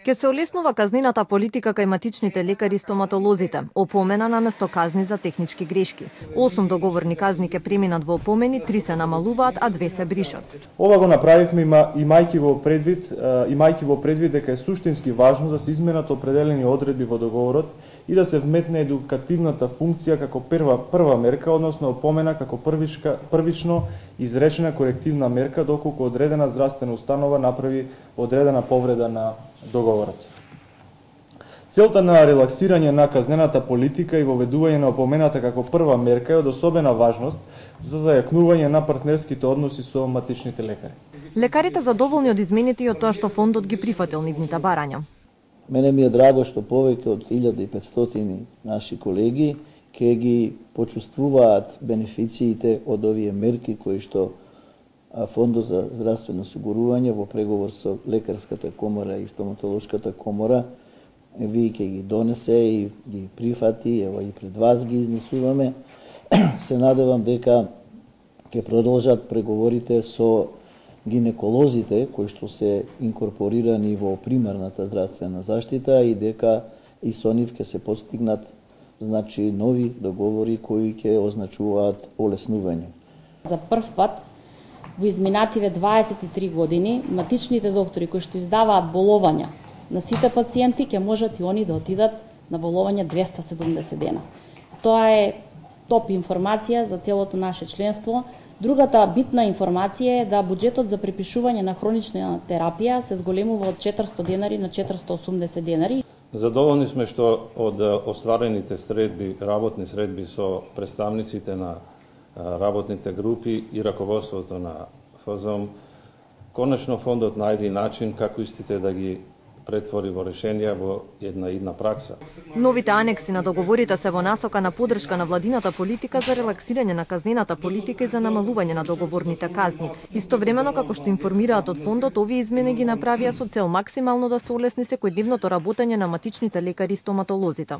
Ке се олеснува казнината политика кај матичните лекари и стоматолозите. Опомена наместо казни за технички грешки. 8 договорни казни ке преминат во опомени, 3 се намалуваат, а 2 се бришат. Ова го направивме имајќи во предвид дека е суштински важно да се изменат определени одредби во договорот и да се вметне едукативната функција како прва мерка, односно опомена како првично изречена корективна мерка доколку одредена здравствена установа направи одредена повреда на договорот. Целта на релаксирање на казнената политика и воведување на опомената како прва мерка е од особена важност за зајакнување на партнерските односи со матичните лекари. Лекарите задоволни од измените и од тоа што фондот ги прифатил нивните барања. Мене ми е драго што повеќе од 1500 наши колеги ќе ги почувствуваат бенефициите од овие мерки кои што Фондот за здравствено осигурување во преговор со Лекарската комора и Стоматолошката комора ви ќе ги донесе и ги прифати, ево и пред вас ги изнесуваме. Се надевам дека ќе продолжат преговорите со гинеколозите кои што се инкорпорирани во примарната здравствена заштита и дека и со нив ќе се постигнат нови договори кои ќе означуваат олеснување. За прв пат во изминативе 23 години матичните доктори кои што издаваат боловања на сите пациенти ќе можат и они да отидат на боловање 270 дена. Тоа е топ информација за целото наше членство. Другата битна информација е да буџетот за препишување на хронична терапија се зголемува од 400 денари на 480 денари. Задоволни сме што од остварените работни средби со представниците на работните групи и раководството на ФЗОМ, конечно фондот најде начин како истите да ги претвори во решенија во една пракса. Новите анекси на договорите се во насока на поддршка на владината политика за релаксирање на казнената политика и за намалување на договорните казни. Истовремено, како што информираат од фондот, овие измени ги направија со цел максимално да се олесни секојдневното работење на матичните лекари и стоматолозите.